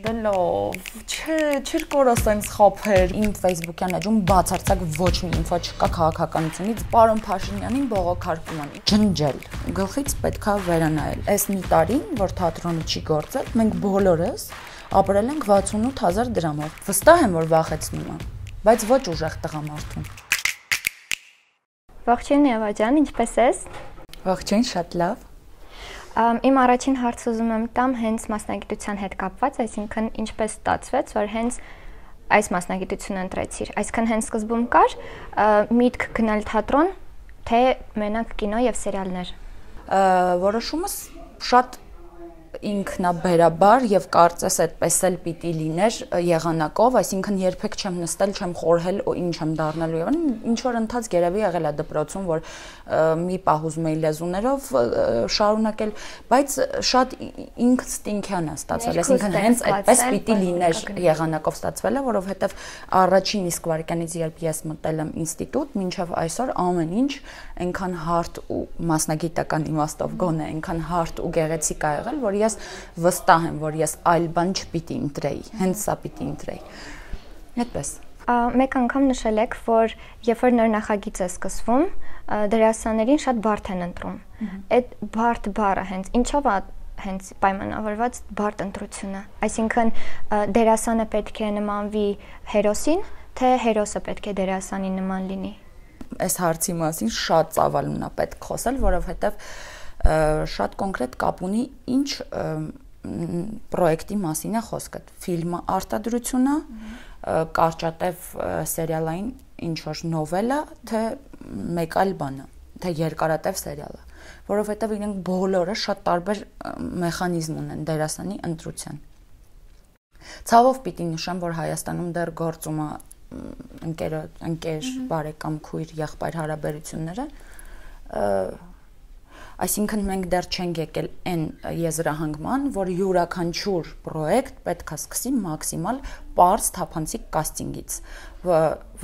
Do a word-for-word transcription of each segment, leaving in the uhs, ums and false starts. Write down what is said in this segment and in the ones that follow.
Դելով, չէ, չէր կորա սենց խափեր, իմ Facebook-յան էջում բացարձակ ոչ մի ինֆո չկա քաղաքականությունից, պարոն Փաշինյանին բողոքարկում են, ջնջել, գլխից պետքա վերանայել, այս մի տարի, որ թատրոնը չի գործել, մենք բոլորս ապրել ենք վաթսունութ հազար դրամով, վստահ եմ, որ վախեցնում եմ, բայց ոչ ուժեղ տղամարդուն։ Ողջույն Եվա ջան, ինչպե՞ս ես։ Ողջույն, շատ լավ։ Իմ առաջին հարցը ուզում եմ տամ հենց մասնագիտության հետ կապված, այսինքն ինչպես ստացվեց, որ հենց այս մասնագիտությունը ընտրեցիր, այսինքն հենց սկզբում կար միտք գնալ թատրոն, թե մենակ կինո եւ սերիալներ։ Որոշումս շատ ինքնաբերաբար եւ կարծես այդպես էլ պիտի լիներ եղանակով, այսինքն երբեք չեմ նստել, չեմ խորհել ու ինչ եմ դառնալու եւ ինչ որ ընթաց գերեւի եղել է դպրոցում, որ մի պահ ուզում էի լեզուներով շարունակել, բայց շատ ինստինկտիվ է ստացվել, այսինքն հենց այդպես պիտի լիներ եղանակով ստացվել է, որովհետեւ առաջին իսկ վարքյանից երբ ես մտել եմ ինստիտուտ, մինչեւ այսօր ամեն ինչ այնքան հարթ ու մասնագիտական իմաստով գոնե այնքան հարթ ու գեղեցիկ ա եղել, որ ես վստահ եմ, որ ես այլ բան չպիտի ընտրեի, հենց սա պիտի ընտրեի։ Այդպես։ Մեկ անգամ նշել եք, որ երբ որ նոր նախագիծ է սկսվում, դերասաններին շատ բարդ են ընտրում։ Այդ բարդ բառը հենց ինչով է հենց պայմանավորված բարդ ընտրությունը։ Այսինքն դերասանը պետք է նմանվի հերոսին, թե հերոսը պետք է դերասանի նման լինի։ Այս հարցի մասին շատ ծավալուն է պետք խոսել, որովհետև շատ կոնկրետ կապ ունի ինչ պրոյեկտի մասին է խոսքը, ֆիլմը արտադրությունը, կարճատև սերիալային ինչ որ նովելա, թե մեկ այլ բանը, թե երկարատև սերիալը, որովհետև իրենք բոլորը շատ տարբեր մեխանիզմ ունեն դերասանի ընտրության։ Ցավով պիտի նշեմ, որ Հայաստանում դեռ գործում է ընկեր, ընկեր, բարեկամ, քույր, եղբայր հարաբերությունները, այսինքն մենք դեռ չենք եկել այն եզրահանգման, որ յուրաքանչյուր պրոյեկտ պետք է սկսի մաքսիմալ պարզ թափանցիկ կաստինգից,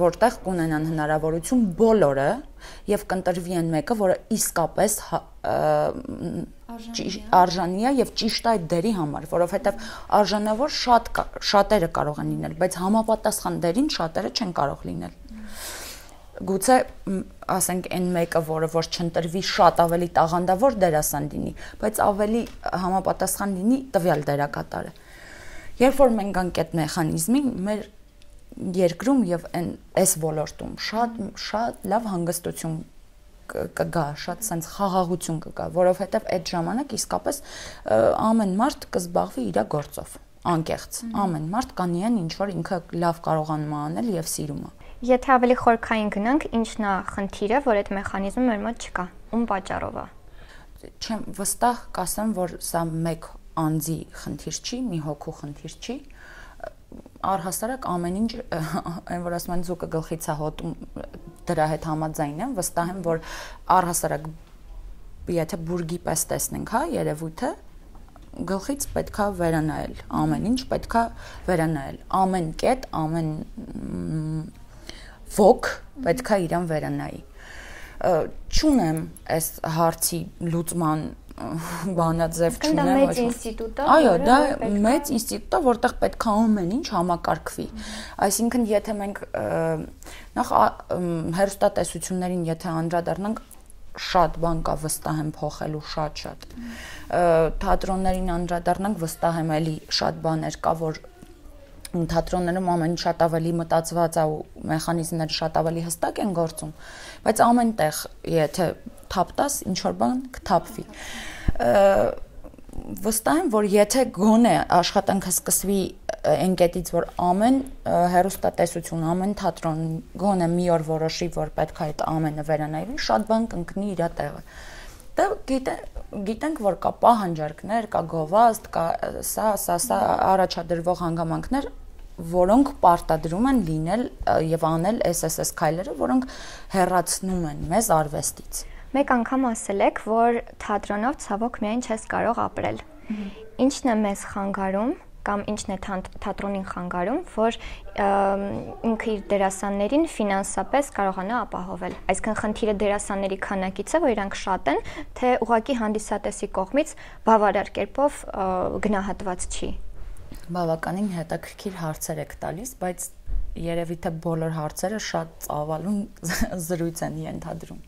որտեղ կունենան հնարավորություն բոլորը եւ կընտրվի այն մեկը, որը իսկապես արժանի է եւ ճիշտ է այդ դերի համար, որովհետեւ արժանավոր շատ շատերը կարող են լինել, բայց համապատասխան դերին շատերը չեն կարող լինել։ Գուցե ասենք այն մեկը, որը որ չընտրվի, շատ ավելի տաղանդավոր դերասան լինի, բայց ավելի համապատասխան լինի տվյալ դերակատարը։ Երբ որ մենք գանք այդ մեխանիզմին, մեր երկրում եւ այս ոլորտում շատ շատ լավ հանգստություն կգա, շատ sense խաղաղություն կգա, որովհետեւ այդ ժամանակ իսկապես ամեն մարդ կզբաղվի իր գործով, անկեղծ։ Ամեն մարդ կանի այն ինչ որ ինքը լավ կարողանում է անել եւ սիրում է։ Եթե ավելի խորքային գնանք, ինչն է խնդիրը, որ այդ մեխանիզմը մեր մոտ չկա, ում պատճառով է։ Չեմ վստահ կասեմ, որ սա մեկ անձի խնդիր չի, մի հոգու խնդիր չի, առհասարակ ամեն ինչ, այն որ ասում են ձուկը գլխից է հոտում, դրա հետ համաձայն եմ, վստահ եմ, որ առհասարակ եթե բուրգի պես տեսնենք, հա, երևույթը, գլխից պետքա վերանայել, ամեն ինչ պետքա վերանայել, ամեն կետ, ամեն ոգ պետքա իրան վերանայի։ Չունեմ այս հարցի լուծման բանաձև չունեմ։ Դա մեծ ինստիտուտ է։ Այո, դա մեծ ինստիտուտ է, որտեղ պետքա ամեն ինչ համակարգվի։ Այսինքն, եթե մենք նախ հեռուստատեսություններին եթե անդրադառնանք, շատ բան կա վստահ եմ փոխելու, շատ-շատ։ Թատրոններին անդրադառնանք, վստահ եմ էլի շատ բաներ կա, որ թատրոններում ամեն շատ ավելի մտածված է ու մեխանիզմները շատ ավելի հստակ են գործում, բայց ամենտեղ եթե թափտաս, ինչ որ բան կթափվի։ Վստահ եմ, որ եթե գոնե աշխատանքը սկսվի այն կետից, որ ամեն հեռուստատեսություն, ամեն թատրոն գոնե մի օր որոշի, որ պետք է այդ ամենը վերանայվի, շատ բան կընկնի իր տեղը։ Դա գիտենք, որ կա պահանջարկներ, կա գովազդ, կա սա, սա, սա առաջադրվող հանգամանքներ, որոնք պարտադրում են լինել եւ անել էս էս էս քայլերը, որոնք հեռացնում են մեզ արվեստից։ Մեկ անգամ ասել եք, որ թատրոնով ցավոք միայն չես կարող ապրել։ Ինչն է մեզ խանգարում կամ ինչն է թատրոնին խանգարում, որ ինքը իր դերասաններին ֆինանսապես կարողանա ապահովել։ Այսինքն խնդիրը դերասանների քանակից է, որ իրանք շատ են, թե ուղղակի հանդիսատեսի կողմից բավարար կերպով գնահատված չի։ Բավականին հետաքրքիր հարցեր եք տալիս, բայց երևի թե բոլոր հարցերը շատ ծավալուն զրույց են ենթադրում։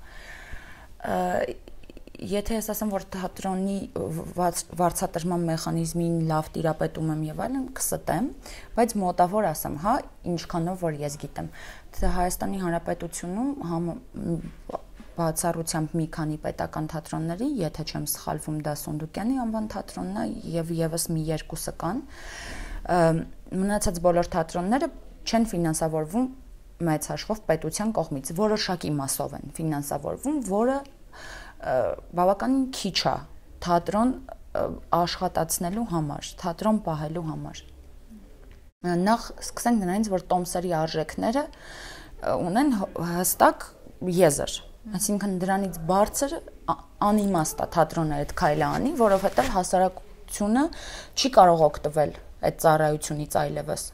Եթե ես ասեմ, որ թատրոնի վարձատրման մեխանիզմին լավ տիրապետում եմ եւ այլն, կստեմ, բայց մոտավոր ասեմ, հա, ինչքանով որ ես գիտեմ, թե Հայաստանի Հանրապետությունում բացառությամբ մի քանի պետական թատրոնների, եթե չեմ սխալվում, դա Սունդուկյանի անվան թատրոնն է եւ եւս մի երկուսը կան, մնացած բոլոր թատրոնները չեն ֆինանսավորվում մեծ հաշվով պետության կողմից, որոշակի մասով են ֆինանսավորվում, որը բավականին քիչ է թատրոն աշխատացնելու համար, թատրոն պահելու համար։ Նախ սկսենք նրանից, որ տոմսերի արժեքները ունեն հստակ եզր, այսինքն դրանից բարձր անիմաստ է թատրոնը այդ քայլը անի, որովհետև հասարակությունը չի կարող օգտվել այդ ծառայությունից այլևս։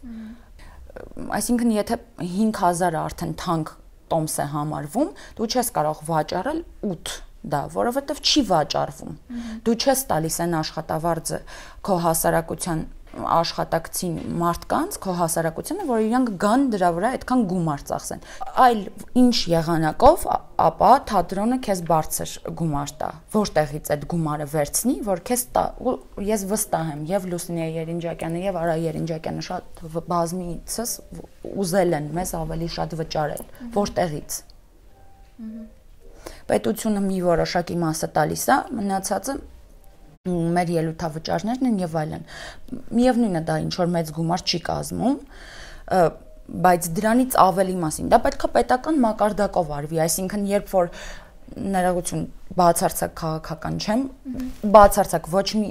Այսինքն եթե հինգ հազարը արդեն թանկ տոմս է համարվում, դու չես կարող վաճառել ութ դա, որովհետև չի վաճառվում։ Դու չես տալիս այն աշխատավարձը քո հասարակության աշխատակցին մարդկանց, քո հասարակությանը, որ իրանք գան դրա վրա այդքան գումար ծախսեն։ Այլ ինչ եղանակով, ապա թատրոնը քեզ բարձր գումար տա։ Որտեղից այդ գումարը վերցնի, որ քեզ տա։ Ես վստահ եմ, եւ Լուսինե Երինջակյանը եւ Արա Երինջակյանը շատ բազմիցս ուզել են մեզ ավելի շատ վճարել։ Որտեղից։ Պետությունը մի որոշակի մասը տալիս է, մնացածը մեր ելույթավճարներն են եւ այլն։ Միևնույնն է դա ինչ որ մեծ գումար չի կազմում, բայց դրանից ավելի մասին դա պետք է պետական մակարդակով արվի, այսինքն երբ որ ներողություն բացարձակ քաղաքական չեմ, բացարձակ ոչ մի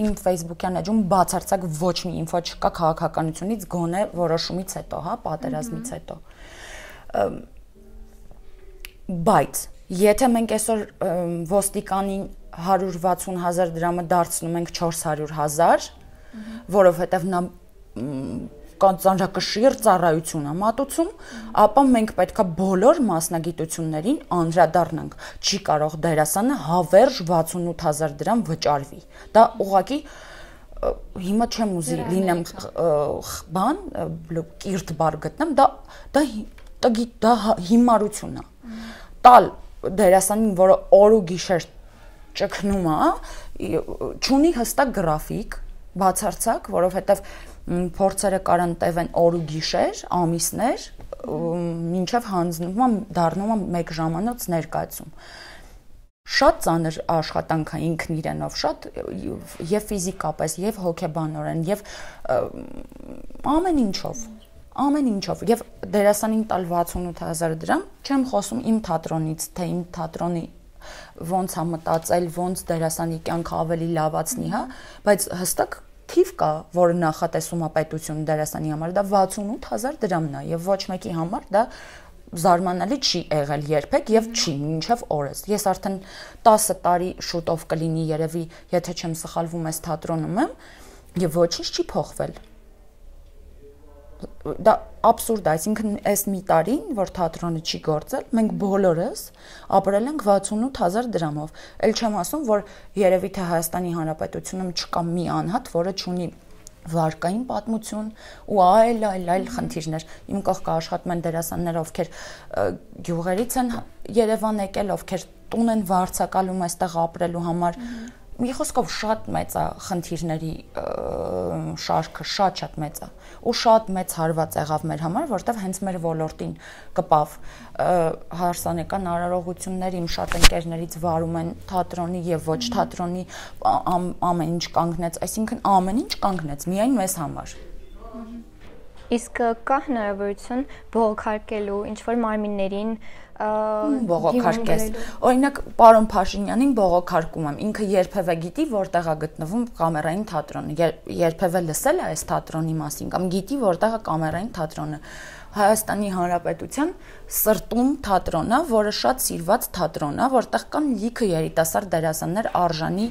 իմ Facebook-յան էջում բացարձակ ոչ մի ինֆո չկա քաղաքականությունից գոնե որոշումից հետո, հա, պատերազմից հետո։ Բայց եթե մենք այսօր ոստիկանին հարյուր վաթսուն հազար դրամը դարձնում ենք չորս հարյուր հազար, որովհետև նա ծանրակշիռ ծառայություն է մատուցում, ապա մենք պետքա բոլոր մասնագիտություններին անդրադառնանք։ Չի կարող դերասանը հավերժ վաթսունութ հազար դրամ վճարվի։ Դա ուղղակի հիմա չեմ ուզի լինեմ բան, կիրթ բառ գտնեմ, դա դա դա հիմարություն է։ Տալ դերասանին, որը օր ու գիշեր ճգնում է, չունի հստակ գրաֆիկ, բացարձակ, որովհետև փորձերը կարան տևեն օր ու գիշեր, ամիսներ, մինչև հանձնվում է, դառնում է մեկ ժամանոց ներկայացում։ Շատ ծանր աշխատանք է ինքն իրենով, շատ եւ ֆիզիկապես, եւ հոգեբանորեն, եւ ամեն ինչով։ Ամեն ինչով եւ դերասանին տալ վաթսունութ հազար դրամ, չեմ խոսում իմ թատրոնից, թե իմ թատրոնի ոնց է մտածել, ոնց դերասանի կյանքը ավելի լավացնի, հա, բայց հստակ թիվ կա, որը նախատեսում է պետությունը դերասանի համար, դա վաթսունութ հազար դրամն է եւ ոչ մեկի համար դա զարմանալի չի եղել երբեք եւ չի մինչեւ օրս։ Ես արդեն տասը տարի շուտով կլինի երևի, եթե չեմ սխալվում, այս թատրոնում եմ եւ ոչինչ չի փոխվել։ Դա абսուրդ է, այսինքն այս մի տարին, որ թատրոնը չի գործել, մենք բոլորս ապրել ենք վաթսունութ հազար դրամով։ Էլ չեմ ասում, որ երևի թե Հայաստանի Հանրապետությունում չկա մի անհատ, որը չունի վարկային պատմություն ու այլ այլ այլ խնդիրներ։ Իմ կողքը աշխատում են դերասաններ, ովքեր գյուղերից են Երևան եկել, ովքեր տուն են վարձակալում այստեղ ապրելու համար։ Մի խոսքով շատ մեծ է խնդիրների շարքը, շատ-շատ մեծ է ու շատ մեծ հարված եղավ մեր համար, որտեղ հենց մեր ոլորտին կպավ հարսանեկան արարողություններ, իմ շատ ընկերներից վարում են թատրոնի եւ ոչ թատրոնի ամեն ինչ կանգնեց, այսինքն ամեն ինչ կանգնեց միայն մեզ համար։ Իսկ կա հնարավորություն բողոքարկելու ինչ որ մարմիններին բողոքարկես։ Օրինակ պարոն Փաշինյանին բողոքարկում եմ, ինքը երբևէ գիտի որտեղ է գտնվում կամերային թատրոնը, երբևէ լսել է այս թատրոնի մասին կամ գիտի որտեղ է կամերային թատրոնը։ Հայաստանի Հանրապետության սրտում թատրոն է, որը շատ սիրված թատրոն է, որտեղ կան լիքը երիտասարդ դերասաններ արժանի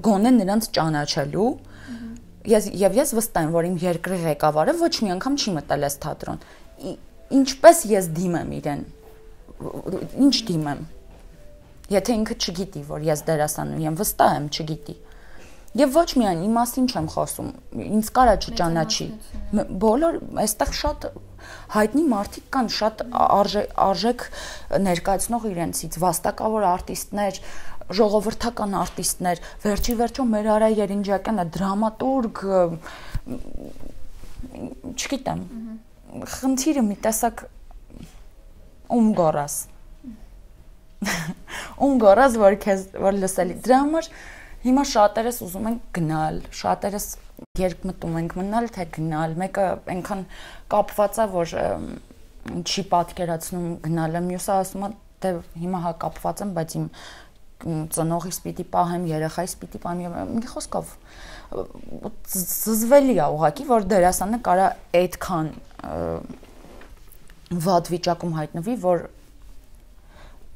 գոնե նրանց ճանաչելու։ Ես եւ ես վստահ եմ, որ իմ երկրի ղեկավարը ոչ մի անգամ չի մտել այս թատրոն։ Ինչպես ես դիմեմ իրեն։ Ինչ դիմեմ։ Եթե ինքը չգիտի, որ ես դերասան եմ, վստահ եմ չգիտի։ Եվ ոչ միայն իմ մասին չեմ խոսում, ինձ կարա չճանաչի։ Բոլոր այստեղ շատ հայտնի մարդիկ կան, շատ արժեք ներկայացնող իրենցից, վաստակավոր արտիստներ, ժողովրդական արտիստներ, վերջի վերջո մեր Արա Երինջակյանը դրամատուրգ, չգիտեմ, խնդիրը մի տեսակ ում գորաս։ Ում գորաս, որ քեզ որ լսելի։ Դրա համար հիմա շատերս ուզում են գնալ, շատերս երկմտում ենք մնալ, թե գնալ։ Մեկը այնքան կապված է, որ չի պատկերացնում գնալը, մյուսը ասում է, թե հիմա հա կապված եմ, բայց իմ ծնողիս պիտի պահեմ, երեխայիս պիտի պահեմ, մի խոսքով զզվելի է ուղղակի, որ դերասանը կարա այդքան վատ վիճակում հայտնվի, որ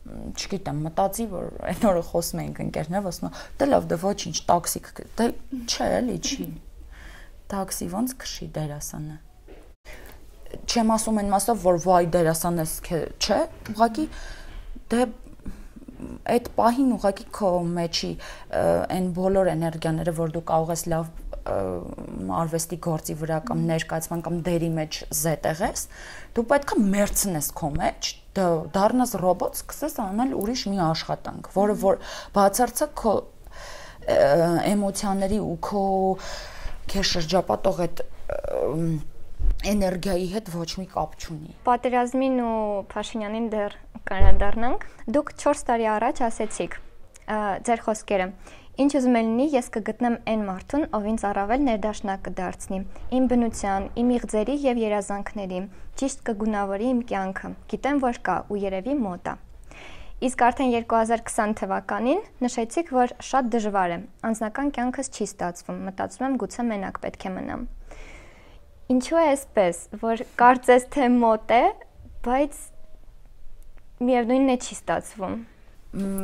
չգիտեմ, մտածի, որ այն օրը խոսում էինք ընկերներով, ասում եմ, դե լավ, դե ոչինչ, տաքսի, դե չէ, էլի չի։ Տաքսի ոնց քշի դերասանը։ Չեմ ասում այն մասով, որ վայ դերասանես չէ, ուղղակի դե այդ պահին ուղղակի քո մեջի այն բոլոր էներգիաները, որ դու կարող ես լավ արվեստի գործի վրա կամ ներկայացման կամ դերի մեջ զետեղես, դու պետք է մերցնես քո մեջ, դառնաս ռոբոտ, սկսես անել ուրիշ մի աշխատանք, որը որ բացարձակ քո էմոցիաների ու քո քեզ շրջապատող այդ էներգիայի հետ ոչ մի կապ չունի։ Պատերազմին ու Փաշինյանին դեռ կանադառնանք։ Դուք չորս տարի առաջ ասեցիք ձեր խոսքերը. Ինչ ուզում եմ լինի, ես կգտնեմ այն մարդուն, ով ինձ առավել ներդաշնակ կդարձնի, իմ բնության, իմ իղձերի եւ երազանքների, ճիշտ կգունավորի իմ կյանքը։ Գիտեմ, որ կա ու երևի մոտ է։ Իսկ արդեն երկու հազար քսան թվականին նշեցիք, որ շատ դժվար է, անձնական կյանքս չի ստացվում, մտածում եմ գուցե մենակ պետք է մնամ։ Ինչու է այսպես, որ կարծես թե մոտ է, բայց միևնույնն է չի ստացվում։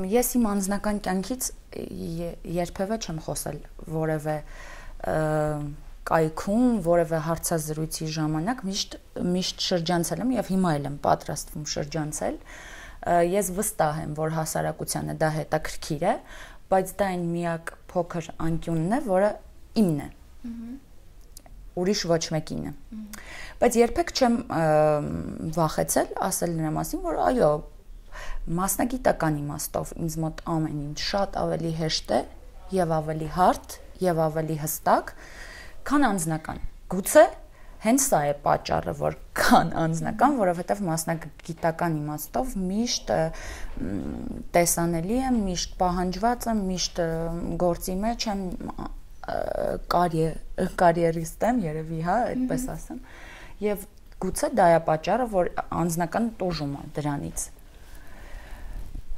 Ես իմ անձնական կյանքից երբևէ չեմ խոսել որևէ կայքում, որևէ հարցազրույցի ժամանակ, միշտ միշտ շրջանցել եմ եւ հիմա էլ եմ պատրաստվում շրջանցել։ Ես վստահ եմ, որ հասարակությանը դա հետաքրքիր է, բայց դա այն միակ փոքր անկյունն է, որը իմն է։ Ուրիշ ոչ մեկինը։ Բայց երբեք չեմ վախեցել ասել նրա մասին, որ այո, մասնագիտական իմաստով ինձ մոտ ամեն ինչ շատ ավելի հեշտ է եւ ավելի հարթ եւ ավելի հստակ, քան անձնական։ Գուցե հենց սա է պատճառը, որ քան անձնական, որովհետեւ մասնագիտական իմաստով միշտ տեսանելի եմ, միշտ պահանջված եմ, միշտ գործի մեջ եմ, կարիերիստ եմ, երևի, հա, այդպես ասեմ։ Եվ գուցե դա է պատճառը, որ անձնական տուժում է դրանից։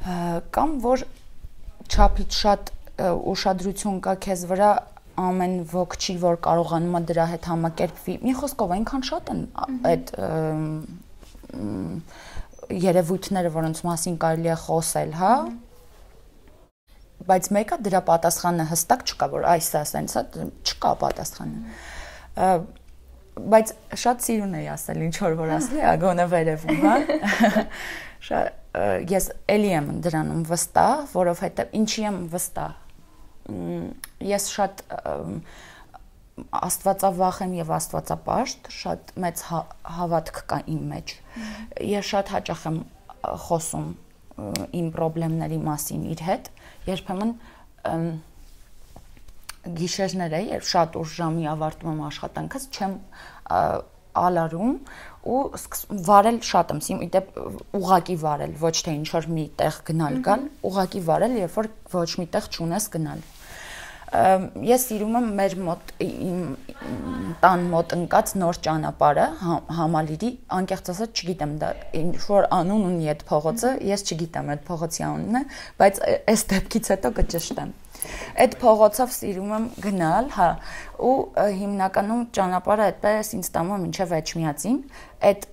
Կամ որ չափից շատ ուշադրություն կա քեզ վրա, ամեն ոք չի, որ կարողանում է դրա հետ համակերպվի։ Մի խոսքով այնքան շատ են այդ երևույթները, որոնց մասին կարելի է խոսել, հա։ Բայց մեկը դրա պատասխանը հստակ չկա, որ այս է, ասենց է, չկա պատասխանը։ Բայց շատ սիրուն էի ասել, ինչ որ որ ասել, ագոնը վերևում, հա։ Ես էլի եմ դրանում վստահ, որովհետև ինչի եմ վստահ։ Ես շատ աստվածավախ եմ եւ աստվածապաշտ, շատ մեծ հավատք կա իմ մեջ։ Ես շատ հաճախ եմ խոսում իմ խնդիրների մասին իր հետ, երբեմն գիշերներ է, երբ շատ ուշ ժամի ավարտում եմ աշխատանքս, չեմ ալարում ու վարել շատ եմ սիրում, իդեպ ուղակի վարել, ոչ թե ինչ որ մի տեղ գնալ գալ, ուղակի վարել, երբ որ ոչ մի տեղ չունես գնալ։ Ես սիրում եմ մեր մոտ տան մոտ ընկած նոր ճանապարհը, Համալիրի, անկեղծ ասած չգիտեմ դա ինչ որ անուն ունի այդ փողոցը, ես չգիտեմ այդ փողոցի անունը, բայց այս դեպքից հետո կճշտեմ։ Այդ փողոցով սիրում եմ գնալ, հա, ու հիմնականում ճանապարհը այդպես ինձ տանում է մինչև Էջմիածին, այդ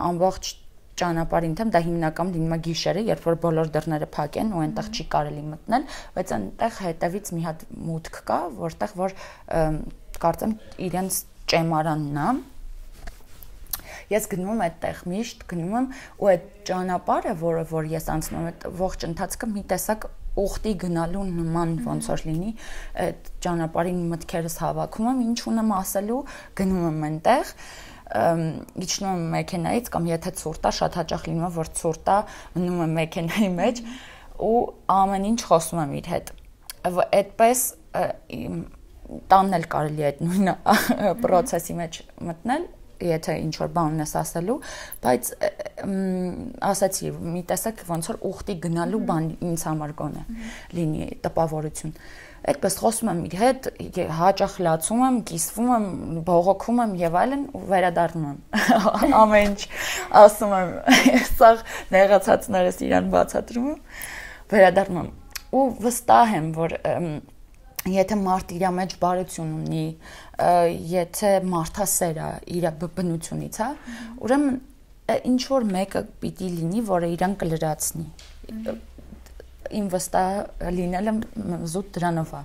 ամբողջ ճանապարհին թեմ դա հիմնականում լինում է գիշերը, երբ որ բոլոր դռները փակ են ու այնտեղ չի կարելի մտնել, բայց այնտեղ հետևից մի հատ մուտք կա, որտեղ որ կարծեմ իրենց ճեմարանն է։ Ես գնում եմ այդտեղ միշտ, գնում եմ ու այդ ճանապարհը, որը որ ես անցնում եմ, այդ ողջ ընթացքը մի տեսակ ուխտի գնալու նման ոնց որ լինի, այդ ճանապարհին մտքերս հավաքում եմ, ինչ ունեմ ասելու, գնում եմ այնտեղ իջնում եմ մեքենայից կամ եթե ցուրտ է, շատ հաճախ լինում է, որ ցուրտ է, մնում եմ մեքենայի մեջ ու ամեն ինչ խոսում եմ իր հետ։ Այդպես տանն էլ կարելի է այդ նույն process-ի մեջ մտնել, եթե ինչ որ բան ունես ասելու, բայց ասացի, մի տեսակ ոնց որ ուխտի գնալու բան ինձ համար գոնե լինի տպավորություն։ Այդպես խոսում եմ իր հետ, հաճախ լացում եմ, կիսվում եմ, բողոքում եմ եւ այլն ու վերադառնում եմ։ Ամեն ինչ ասում եմ, սա նեղացածներս իրան բացատրում եմ, վերադառնում եմ։ Ու վստահ եմ, որ եթե մարդ իր մեջ բարություն ունի, եթե մարդասեր է իր բնությունից, հա, ուրեմն ինչ որ մեկը պիտի լինի, որը իրան կլրացնի։ Իմ վստահ լինելը զուտ դրանով է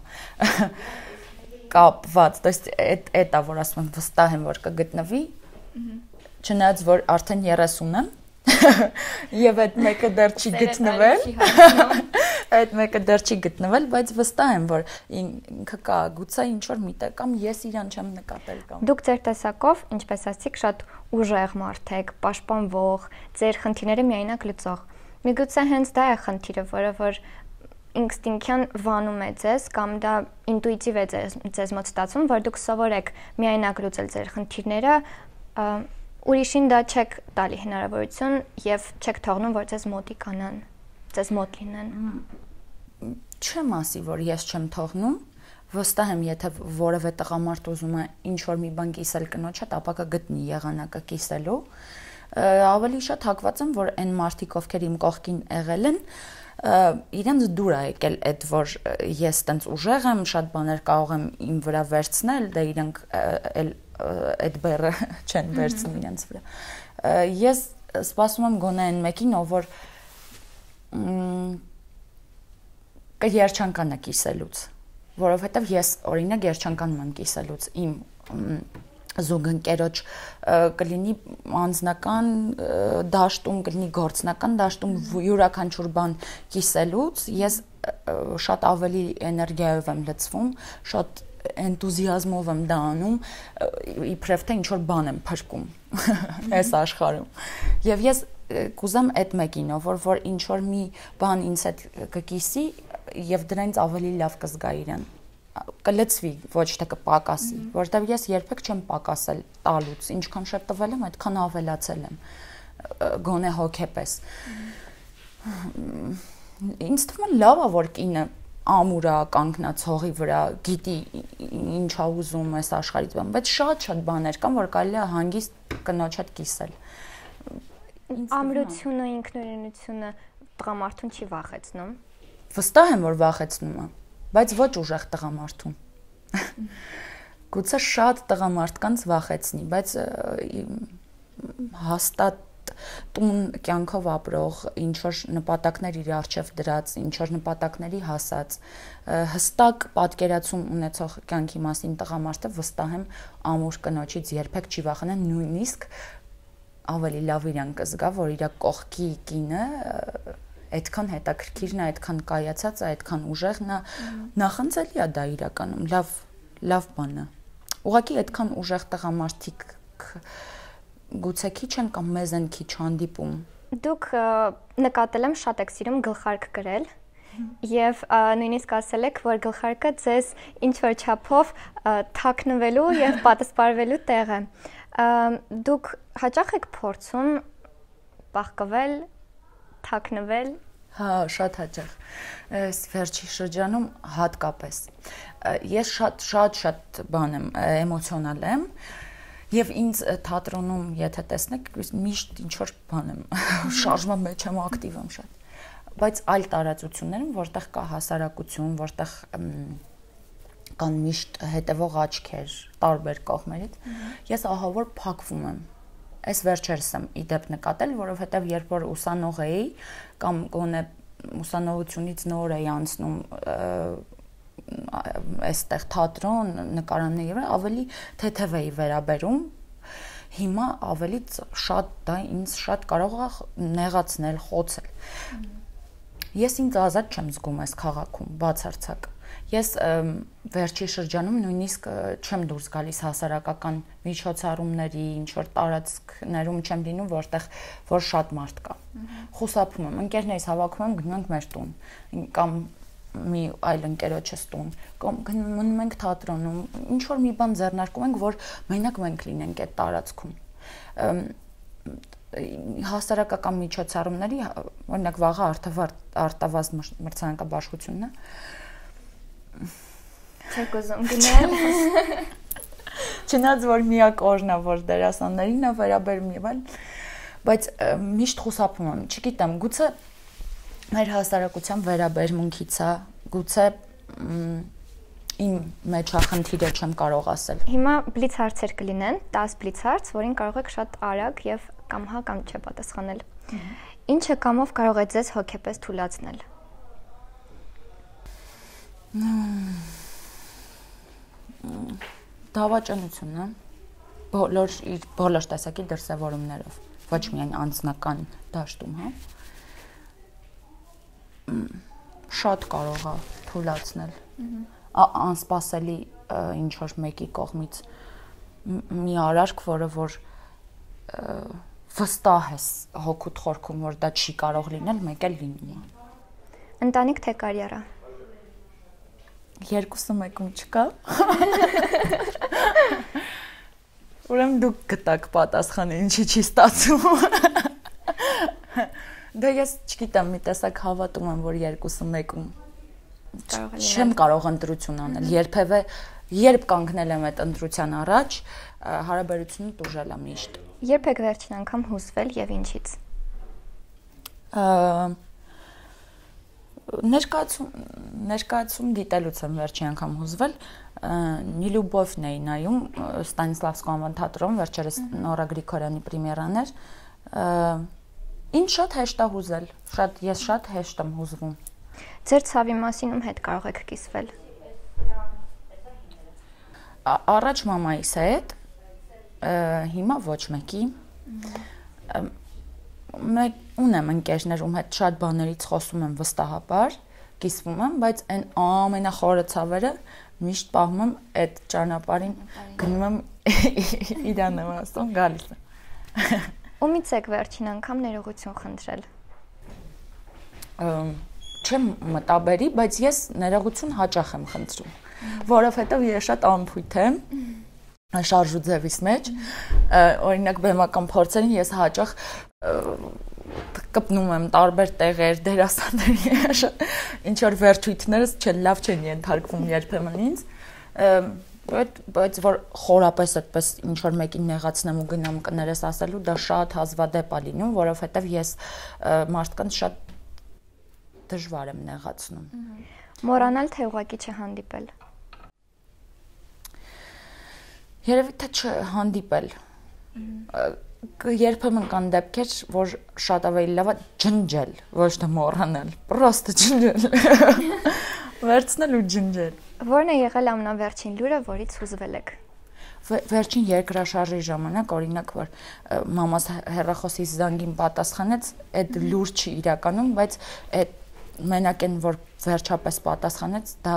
կապված, то есть այդ է որ ասում եմ վստահ եմ որ կգտնվի, չնայած որ արդեն երեսուն եմ եւ այդ մեկը դեռ չի գտնվել, այդ մեկը դեռ չի գտնվել, բայց վստահ եմ որ ինքը կա, գուցե ինչ որ միտեղ կամ ես իրան չեմ նկատել կամ։ Դուք ձեր տեսակով, ինչպես ասացիք, շատ ուժեղ մարդ եք, պաշտպանվող, ձեր խնդիրները միայնակ լուծող։ Միգուցե հենց դա է խնդիրը, որը որ ինստինկտիվ վանում է ձեզ կամ դա ինտուիտիվ է ձեզ, ձեզ մոտ ստացվում, որ դուք սովորեք միայնակ լուծել ձեր խնդիրները, ուրիշին դա չեք տալի հնարավորություն եւ չեք թողնում, որ ձեզ մոտիկանան, ձեզ մոտ լինեն։ Չեմ ասի, որ ես չեմ թողնում, վստահ եմ, եթե որևէ տղամարդ ուզում է ինչ որ մի բան կիսել կնոջ հետ, ապա կգտնի եղանակը կիսելու։ Ավելի շատ հակված եմ, որ այն մարդիկ, ովքեր իմ կողքին եղել են, իրենց դուր է եկել այդ, որ ես տենց ուժեղ եմ, շատ բաներ կարող եմ իմ վրա վերցնել, դա իրենք էլ այդ բեռը չեն վերցնում իրենց վրա։ Ես սպասում եմ գոնե այն մեկին, ով որ կերջանկանա կիսելուց, որովհետև ես օրինակ երջանկանում եմ կիսելուց իմ զուգընկերոջ կլինի անձնական դաշտում, կլինի գործնական դաշտում յուրաքանչյուր բան կիսելուց, ես շատ ավելի էներգիայով եմ լցվում, շատ էնտուզիազմով եմ դա անում, իբրև թե ինչ-որ բան եմ փրկում այս աշխարհում։ Եվ ես կուզեմ այդ մեկին, որ որ ինչ-որ մի բան ինձ հետ կկիսի եւ դրանից ավելի լավ կզգա իրեն, կլծվի, ոչ թե կպակասի, որտեղ ես երբեք չեմ պակասել տալուց, ինչքան շատ տվել եմ, այդքան ավելացել եմ, գոնե հոգեպես։ Ինձ թվում է լավ է, որ կինը ամուր է կանգնած հողի վրա, գիտի ինչ է ուզում այս աշխարհից բան, բայց շատ-շատ բաներ կան, որ կարելի է հանգիստ կնոջ հետ կիսել։ Ամրությունը, ինքնուրույնությունը տղամարդուն չի վախեցնում։ Վստահ եմ, որ վախեցնում է, բայց ոչ ուժեղ տղամարդուն։ Գուցե շատ տղամարդկանց վախեցնի, բայց հաստատ տուն կյանքով ապրող, ինչ որ նպատակներ իր առջև դրած, ինչ որ նպատակների հասած, հստակ պատկերացում ունեցող կյանքի մասին տղամարդը վստահ եմ ամուր կնոջից երբեք չի վախենա, նույնիսկ ավելի լավ իրան կզգա, որ իր կողքի կինը այդքան հետաքրքիրն է, այդքան կայացած է, այդքան ուժեղն է, նախընծելի է դա իրականում, լավ, լավ բան է։ Ուղղակի այդքան ուժեղ տղամարդիկ գուցե քիչ են կամ մեզ են քիչ հանդիպում։ Դուք նկատել եմ շատ եք սիրում գլխարկ գրել եւ նույնիսկ ասել եք, որ գլխարկը ձեզ ինչ որ չափով թաքնվելու եւ պատասպարվելու տեղ է։ Դուք հաճախ եք փորձում բախկվել, թաքնվել։ Հա, շատ հաճախ։ Այս վերջի շրջանում հատկապես։ Ես շատ շատ շատ բան եմ, էմոցիոնալ եմ։ Եվ ինձ թատրոնում, եթե տեսնեք, միշտ ինչ-որ բան եմ, շարժման մեջ եմ, ակտիվ եմ շատ, բայց այլ տարածություններում, որտեղ կա հասարակություն, որտեղ կան միշտ հետևող աչքեր տարբեր կողմերից, ես ահավոր փակվում եմ, այս վերջերս եմ իդեպ նկատել, որովհետև երբ որ ուսանող էի, կամ գոնե ուսանողությունից նոր էի անցնում այստեղ թատրոն, նկարանների վրա ավելի թեթև էի վերաբերում Հիմա ավելի շատ դա ինձ շատ կարող է նեղացնել, խոցել։ Ես ինձ ազատ չեմ զգում այս քաղաքում, բացարձակ։ Ես վերջի շրջանում նույնիսկ չեմ դուրս գալիս հասարակական միջոցառումների, ինչ որ տարածքներում չեմ լինում, որտեղ որ շատ մարդ կա։ Խուսափում եմ, ընկերներիս հավաքում եմ, գնում ենք մեր տուն, կամ մի այլ ընկերոջս տուն, կամ գնում ենք թատրոնում, ինչ որ մի բան ձեռնարկում ենք, որ մենակ մենք լինենք այդ տարածքում։ Հասարակական միջոցառումների, օրինակ վաղը արտավազդ մրցանակաբաշխությունն է։ Չեք ուզում գնել։ Չնայած որ միակ օրն է, որ դերասաններին է վերաբերում եւ այլ, բայց միշտ խուսափում եմ, չգիտեմ, գուցե մեր հասարակության վերաբերմունքից է, գուցե իմ մեջ է խնդիրը չեմ կարող ասել։ Հիմա բլից հարցեր կլինեն, տասը բլից հարց, որին կարող եք շատ արագ եւ կամ հա կամ չէ պատասխանել։ Ինչը կամով կարող է ձեզ հոգեպես թուլացնել։ Դավաճանությունն է, բոլոր իր բոլոր տեսակի դրսևորումներով, ոչ միայն անձնական դաշտում, հա։ Շատ կարող է թուլացնել, անսպասելի ինչ որ մեկի կողմից մի արարք, որը որ վստահ ես հոգուտ խորքում, որ դա չի կարող լինել, մեկ էլ լինում է։ Ընտանիք թե կարիերա։ Երկուսը մեկում չկա։ Ուրեմն դուք գտաք պատասխանը, ինչի չի ստացվում։ Դա ես չգիտեմ, մի տեսակ հավատում եմ, որ երկուսը մեկում չեմ կարող ընտրություն անել։ Երբևէ երբ կանգնել եմ այդ ընտրության առաջ, հարաբերությունը տուժել է միշտ։ Երբ եք վերջին անգամ հուզվել եւ ինչից։ Ներկայացում ներկայացում դիտելուց եմ վերջին անգամ հուզվել, Նիլյուբովն էի նայում Ստանիսլավսկու անվան թատրոն, վերջերս Նորա Գրիգորյանի պրեմիերան էր։ Ինչ շատ հեշտ է հուզել, շատ ես շատ հեշտ եմ հուզվում։ Ձեր ցավի մասին ում հետ կարող եք կիսվել։ Առաջ մամայիս հետ, հիմա ոչ մեկի։ Մեկ ունեմ ընկերներ, ում հետ շատ բաներից խոսում եմ վստահաբար, կիսվում եմ, բայց այն ամենախորը ցավերը միշտ պահում եմ այդ ճանապարհին, գնում եմ իրան եմ ասում, գալիս եմ։ Ումից եք վերջին անգամ ներողություն խնդրել։ Չեմ մտաբերի, բայց ես ներողություն հաճախ եմ խնդրում, որովհետև ես շատ անփույթ եմ շարժու ձևիս մեջ, օրինակ բեմական փորձերին ես հաճախ կպնում եմ տարբեր տեղեր, դերասանների, ինչ որ վերջույթներս չեն լավ չեն ենթարկվում երբեմն ինձ, բայց որ խորապես այդպես ինչ որ մեկին նեղացնեմ ու գնամ կներես ասելու, դա շատ հազվադեպ է լինում, որովհետև ես մարդկանց շատ դժվար եմ նեղացնում։ Մոռանալ թե ուղղակի չհանդիպել։ Երևի թե չհանդիպել։ Երբեմն կան դեպքեր, որ շատ ավելի լավ է ջնջել, ոչ թե մոռանել, պրոստը ջնջել։ Վերցնել ու ջնջել։ Որն է եղել ամենավերջին լուրը, որից հուզվել եք։ Վերջին երկրաշարժի ժամանակ, օրինակ, որ մամաս հեռախոսի զանգին պատասխանեց, այդ լուր չի իրականում, բայց այդ մենակ այն, որ վերջապես պատասխանեց, դա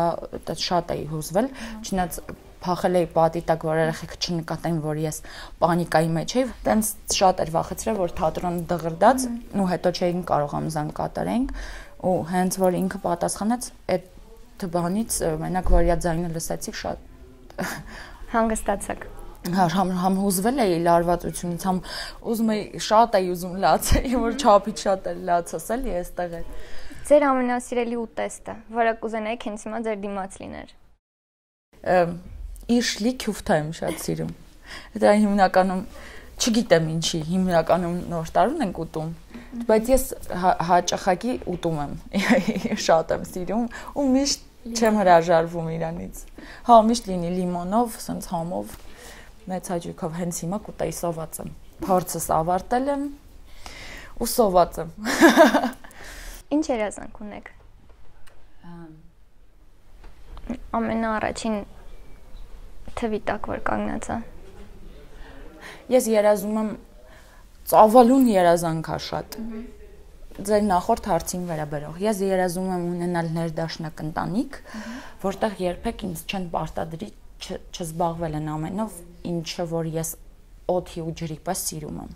շատ էի հուզվել, չնայած փախել էի պատի տակ, որ երեխեքը չնկատեն, որ ես պանիկայի մեջ էի, տենց շատ էր վախեցրել, որ թատրոնը դղրդաց, ու հետո չէին կարող ամզան կատարենք, ու հենց որ ինքը պատասխանեց, այդ բանից մենակ որ իա ձայնը լսեցի, շատ հանգստացաք։ Համ համ հուզվել էի լարվածությունից, համ ուզում էի շատ էի ուզում լացել, որ չափից շատ էր լացս էլի այստեղ է։ Ձեր ամենասիրելի ուտեստը, որը կուզենայիք հենց հիմա ձեր դիմաց լիներ։ Իշլի քյուֆթա եմ շատ սիրում։ Դա հիմնականում չգիտեմ ինչի, հիմնականում նոր տարուն ենք ուտում, բայց ես հաճախակի ուտում եմ, շատ եմ սիրում ու միշտ չեմ հրաժարվում իրանից։ Հա, միշտ լինի լիմոնով, սենց համով, մեծ հաճույքով հենց հիմա կուտեի սոված եմ։ Փորձս ավարտել եմ ու սոված եմ։ Ինչ երազանք ունեք։ Ամենաառաջին թվի տակ որ կանգնած է։ Ես երազում եմ ծավալուն երազանքա շատ։ Ձեր նախորդ հարցին վերաբերող։ Ես երազում եմ ունենալ ներդաշնակ ընտանիք, որտեղ երբեք ինձ չեն պարտադրի չզբաղվել են ամենով, ինչը որ ես օդի ու ջրի պես սիրում եմ։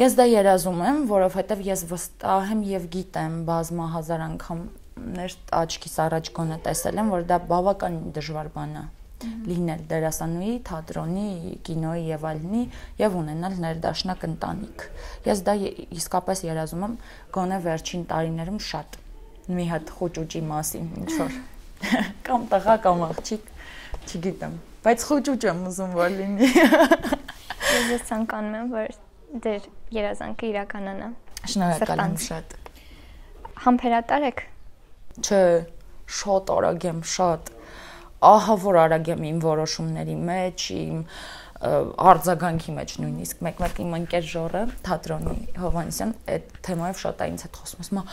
Ես դա երազում եմ, որովհետև ես վստահ եմ եւ գիտեմ բազմահազար անգամներ աչքիս առաջ գոնե տեսել եմ, որ դա բավականին դժվար բան է լինել դերասանուհի, թատրոնի, կինոյի եւ այլնի եւ ունենալ ներդաշնակ ընտանիք։ Ես դա իսկապես երազում եմ գոնե վերջին տարիներում շատ մի հատ խոճուճի մասին ինչ որ կամ տղա կամ աղջիկ, չգիտեմ, բայց խոճուճ եմ ուզում որ լինի։ Ես ցանկանում եմ որ դեր երազանքը իրականանա։ Շնորհակալ եմ շատ։ Համբերատար եք։ Չէ, շատ արագ եմ, շատ ահա որ արագ եմ իմ որոշումների մեջ, իմ արձագանքի մեջ նույնիսկ մեկ-մեկ իմ ընկեր Ժորը, թատրոնի Հովհաննիսյան, այդ թեմայով շատ է ինձ հետ խոսում, ասում է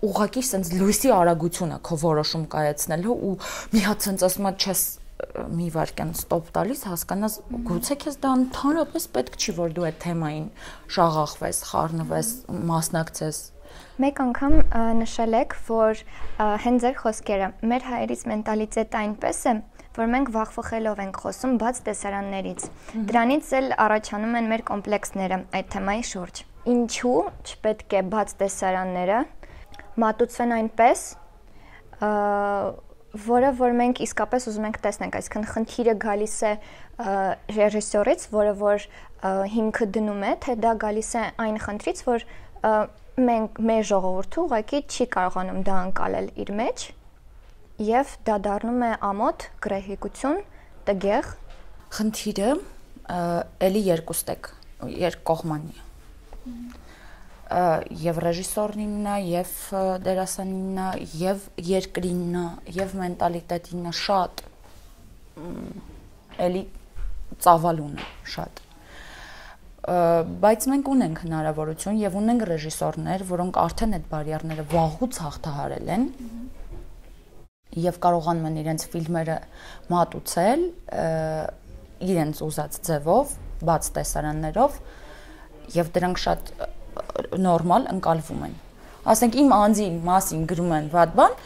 ուղղակի sense լույսի արագություն է քո որոշում կայացնելու ու մի հատ sense ասում է չես մի վարքյան ստոպ տալիս, հասկանաս գուցե քեզ դա ընդհանրապես պետք չի որ դու այդ թեմային շաղախվես, խառնվես, մասնակցես։ Մեկ անգամ նշել եք, որ հենց ձեր խոսքերը մեր հայերից մենտալիտետը այնպես է, որ մենք վախվխելով ենք խոսում բաց տեսարաններից։ Դրանից էլ առաջանում են մեր կոմպլեքսները այդ թեմայի շուրջ։ Ինչու չպետք է բաց տեսարանները մատուցվեն այնպես, որը որ մենք իսկապես ուզում ենք տեսնենք, այսինքն խնդիրը գալիս է ռեժիսորից, որը որ հիմքը դնում է, թե դա գալիս է այն խնդրից, որ մենք մեր ժողովուրդը ուղղակի չի կարողանում դա անցալել իր մեջ եւ դա դառնում է ամոթ, գրեհիկություն, տգեղ։ Խնդիրը էլի երկուստեք, երկկողմանի է։ Եվ ռեժիսորնինն է, եւ դերասանինն է, եւ երկրինն է, եւ մենտալիտետինն է շատ էլի ծավալուն է շատ։ Բայց մենք ունենք հնարավորություն եւ ունենք ռեժիսորներ, որոնք արդեն այդ բարիերները վաղուց հաղթահարել են եւ կարողանում են իրենց ֆիլմերը մատուցել իրենց ուզած ձևով, բաց տեսարաններով եւ դրանք շատ նորմալ ընկալվում են։ Ասենք իմ անձի մասին գրում են վատ բան,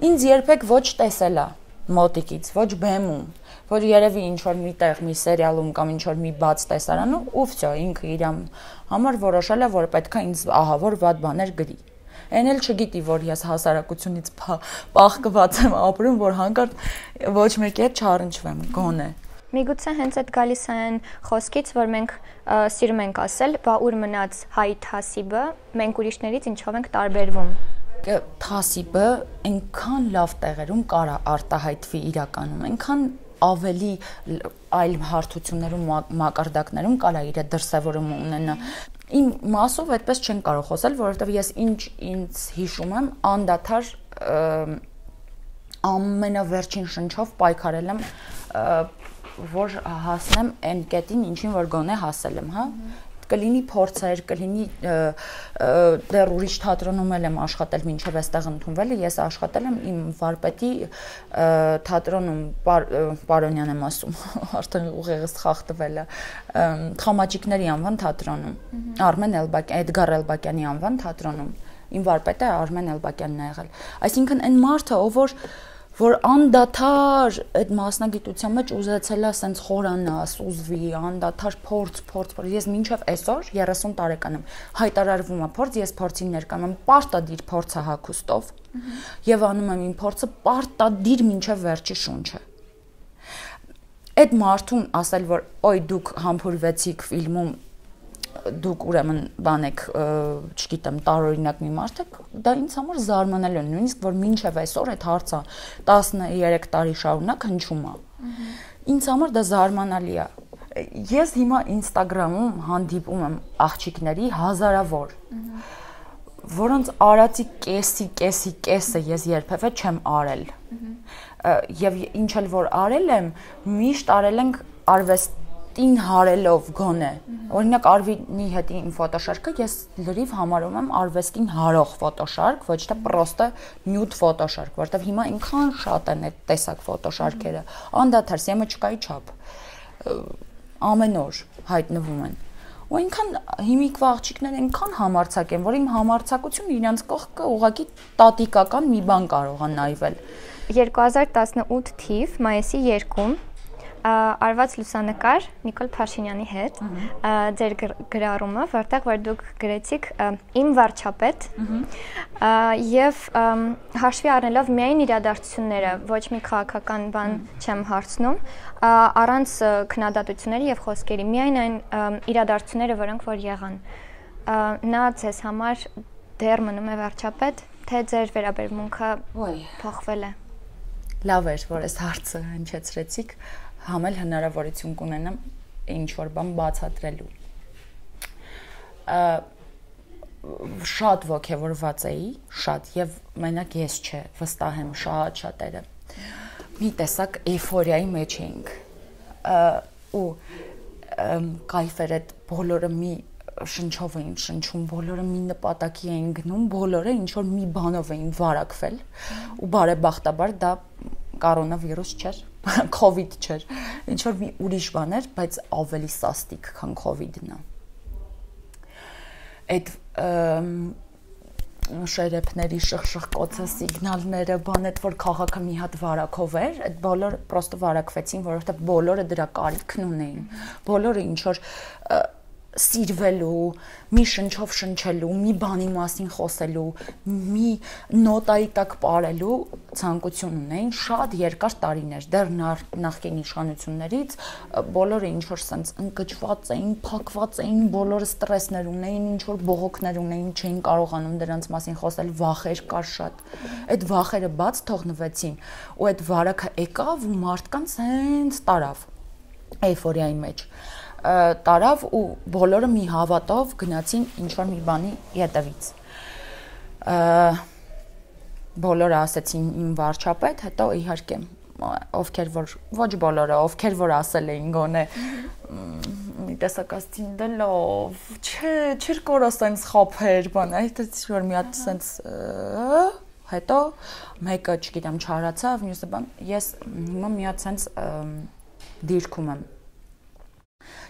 ինձ երբեք ոչ տեսել է մոտիկից, ոչ բեմում, որ երևի ինչ որ մի տեղ մի սերիալում կամ ինչ որ մի բաց տեսարանում ու վсё ինքը իր համար որոշել է որ պետքա ինձ ահա որ վատ բաներ գրի։ Այն էլ չգիտի որ ես հասարակությունից պաղկված եմ ապրում, որ հանկարծ ոչ մեկի հետ չառնչվեմ, գոնե։ Միգուցե հենց այդ գալիս են խոսքից, որ մենք սիրում ենք ասել, բա ուր մնաց հայ թասիբը, մենք ուրիշներից ինչով ենք տարբերվում։ Թասիբը այնքան լավ տեղերում կարա արտահայտվի իրականում, այնքան ավելի այլ հարթություններում մակարդակներում կարա իր դրսևորումը ունենա։ Իմ մասով այդպես չեն կարող խոսել, որովհետև ես ինչ ինձ հիշում եմ, անդադար ամենավերջին շնչով պայքարել եմ որ հասնեմ այն կետին, ինչին որ գոնե հասել եմ, հա։ Կլինի փորձեր, կլինի դեռ ուրիշ թատրոնում եմ աշխատել մինչև այստեղ ընդունվելը, ես աշխատել եմ իմ վարպետի թատրոնում, Պարոնյան եմ ասում, արդեն ուղեղս խախտվել է, Խամաճիկների անվան թատրոնում, Արմեն Էլբակյան, Էդգար Էլբակյանի անվան թատրոնում, իմ վարպետը Արմեն Էլբակյանն է եղել։ Այսինքն այն մարդը, ով որ որ անդադար այդ մասնագիտության մեջ ուզեցել է ասենց խորանա, սուզվի, անդադար փորձ, փորձ, փորձ։ Ես մինչև այսօր երեսուն տարեկան եմ, հայտարարվում է փորձ, ես փորձին ներկայանում եմ, պարտադիր փորձը հագուստով եւ անում եմ իմ փորձը պարտադիր մինչև վերջի շունչը։ Այդ մարդուն ասել, որ օй դուք համբուրվեցիք ֆիլմում դուք ուրեմն բանեք, չգիտեմ, տարօրինակ մի մարդ եք, դա ինձ համար զարմանալի է, նույնիսկ որ մինչև այսօր այդ հարցը տասներեք տարի շարունակ հնչում է։ Ինձ համար դա զարմանալի է։ Ես հիմա Instagram-ում հանդիպում եմ աղջիկների հազարավոր, որոնց արածի կեսի, կեսի, կեսը ես երբևէ չեմ արել։ Եվ ինչ էլ որ արել եմ, միշտ արել ենք արվեստ ին հարելով գոնե։ Օրինակ Արվինի հետ իմ ֆոտոշարքը ես լրիվ համարում եմ արվեստին հարող ֆոտոշարք, ոչ թե պրոստը նյուդ ֆոտոշարք, որովհետև հիմա այնքան շատ են այդ տեսակ ֆոտոշարքերը, անդադար սեմը չկայի չափ։ ամեն օր հայտնվում են։ Ու այնքան հիմիկվա աղջիկներ այնքան համարցակ են, որ իմ համարցակությունը իրանց կողքը ուղղակի տատիկական մի բան կարող է նայվել։ երկու հազար տասնութ թիվ մայիսի երկում արված լուսանկար Նիկոլ Փաշինյանի հետ ձեր գրառումը, որտեղ որ դուք գրեցիք իմ վարչապետ եւ հաշվի առնելով միայն իրադարձությունները, ոչ մի քաղաքական բան չեմ հարցնում, առանց քննադատությունների եւ խոսքերի, միայն այն իրադարձությունները, որոնք որ եղան, նա ձեզ համար դեռ մնում է վարչապետ, թե ձեր վերաբերմունքը փոխվել է։ Լավ էր, որ այս հարցը հնչեցրեցիք, համել հնարավորություն կունենամ ինչ-որ բան բացատրելու։ Շատ ոգևորված էի, շատ, եւ մենակ ես չէ, վստահ եմ շատ շատերը։ Մի տեսակ էյֆորիայի մեջ էինք։ Ու կայֆ էր այդ բոլորը մի շնչով էին շնչում, բոլորը մի նպատակի էին գնում, բոլորը ինչ-որ մի բանով էին վարակվել, ու բարեբախտաբար դա կորոնավիրուս չէր, COVID չէր, ինչ-որ մի ուրիշ բան էր, բայց ավելի սաստիկ, քան COVID-ն է։ Այդ շերեփների շխշխկոցը, սիգնալները, բան այդ որ քաղաքը մի հատ վարակով էր, այդ բոլորը պրոստը վարակվեցին, որովհետև բոլորը դրա կարիքն ունեին, բոլորը ինչ-որ սիրվելու, մի շնչով շնչելու, մի բանի մասին խոսելու, մի նոտայի տակ ապարելու ցանկություն ունեին շատ երկար տարիներ, դեռ նախկին իշխանություններից բոլորը ինչ որ sense ընկճված էին, փակված էին, բոլորը ստրեսներ ունեին, ինչ որ բողոքներ ունեին, չէին կարողանում դրանց մասին խոսել, վախեր կար շատ։ Այդ վախերը բաց թողնվեցին, ու այդ վարակը եկավ ու մարդկանց հենց տարավ էյֆորիայի մեջ։ Տարավ ու բոլորը մի հավատով գնացին ինչ-որ մի բանի ետևից։ Բոլորը ասեցին իմ վարչապետ, հետո իհարկե ովքեր որ ոչ բոլորը, ովքեր որ ասել էին գոնե մի տեսակ ասեցին դե լավ, չէ, չեր կորա սենց խափեր, բան, այդ որ մի հատ սենց հետո մեկը, չգիտեմ, չարացավ, մյուսը բան, ես հիմա մի հատ սենց դիրքում եմ։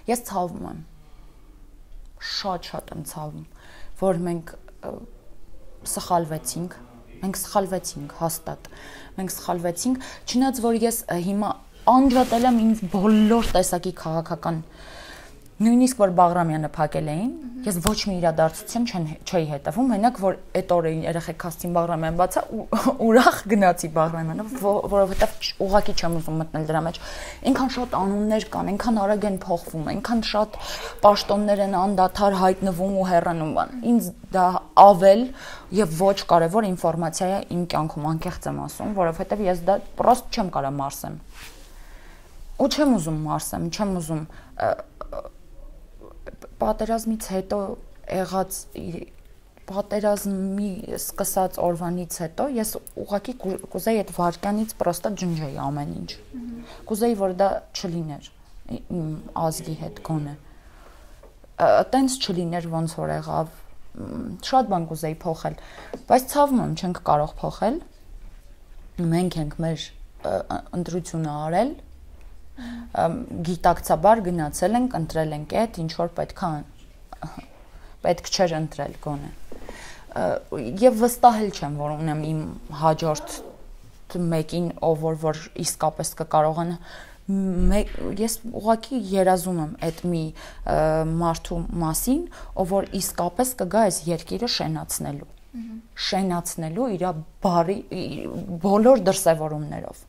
Ես ցավում եմ, շատ-շատ եմ ցավում, որ մենք սխալվեցինք, մենք սխալվեցինք հաստատ, մենք սխալվեցինք, չնայած որ ես հիմա անջատել եմ ինձ բոլոր տեսակի քաղաքական, նույնիսկ որ Բաղրամյանը փակել էին, ես ոչ մի իրադարձություն չէի հետևում, մենակ որ այդ օրը երեխեք հասցին Բաղրամյան բացա ուրախ գնացի Բաղրամյանը, որովհետև ուղղակի չեմ ուզում մտնել դրա մեջ։ Այնքան շատ անուններ կան, այնքան արագ են փոխվում, այնքան շատ պաշտոններ են անդադար հայտնվում ու հեռանում բան։ Ինձ դա ավել եւ ոչ կարեւոր ինֆորմացիա է իմ կյանքում, անկեղծ եմ ասում, որովհետև ես դա պրոստ չեմ կարա մարսեմ։ Ու չեմ ուզում մարսեմ, չեմ ուզում պատերազմից հետո եղած պատերազմի սկսած օրվանից հետո ես ուղղակի կուզեի այդ վարքյանից պրոստը ջնջեի ամեն ինչ։ Կուզեի որ դա չլիներ իմ ազգի հետ գոնե։ Տենց չլիներ ոնց որ եղավ։ Շատ բան կուզեի փոխել, բայց ցավում եմ չենք կարող փոխել։ Մենք ենք մեր ընտրությունը արել, գիտակցաբար գնացել ենք, ընտրել ենք այդ, ինչ որ պետք է պետք չէր ընտրել գոնե։ Եվ վստահել չեմ, որ ունեմ իմ հաջորդ մեկին, ով որ որ իսկապես կկարողանա ես ուղղակի երազում եմ այդ մի մարդու մասին, ով որ իսկապես կգա այս երկիրը շենացնելու։ Շենացնելու իր բարի բոլոր դրսևորումներով։